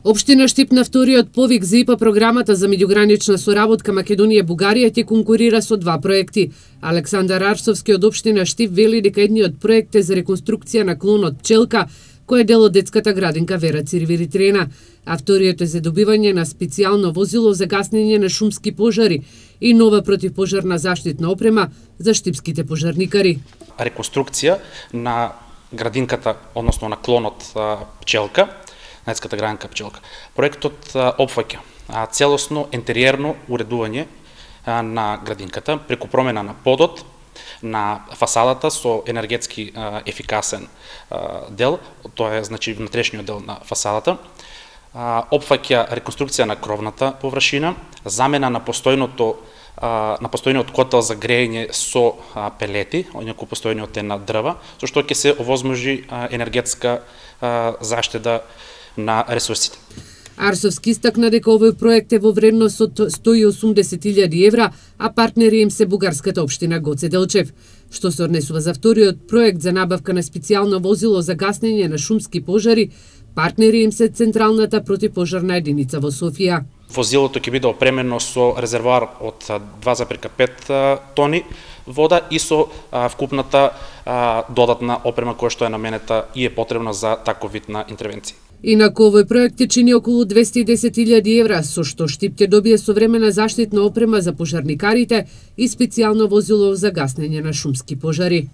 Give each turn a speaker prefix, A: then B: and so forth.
A: Општина Штип на вториот повик за ИПА програмата за меѓугранична соработка Македонија-Бугарија ќе конкурира со два проекти. Александар Арсовски од Општина Штип вели дека едниот проект е за реконструкција на клонот Пчелка, кој е дел од детската градинка Вера Цирвиритрена, а вториот е за добивање на специјално возило за гаснење на шумски пожари и нова противпожарна заштитна опрема за штипските пожарникари.
B: Реконструкција на градинката, односно на клонот Пчелка, на детската градинка Пчелка. Проектот опфаќа целосно интериерно уредување на градинката преку промена на подот, на фасадата со енергетски ефикасен дел, тоа е значи внатрешниот дел на фасадата. Опфаќа реконструкција на кровната површина, замена на постојниот котел за грејење со пелети, инаку постојниот е на дрва, со што ќе се овозможи енергетска заштеда на ресурсите.
A: Арсовски истакна дека овој проект е во вредност од 180.000 евра, а партнери им се бугарската општина Гоце Делчев. Што се однесува за вториот проект за набавка на специјално возило за гаснење на шумски пожари, партнери им се Централната противпожарна единица во Софија.
B: Возилото ќе биде опремено со резервоар од 2,5 тони вода и со вкупната додатна опрема која што е наменета и е потребна за таков вид на интервенција.
A: Инаку овој проект ќе чини околу 210.000 евра, со што Штип ќе добие современа заштитна опрема за пожарникарите и специјално возило за гаснење на шумски пожари.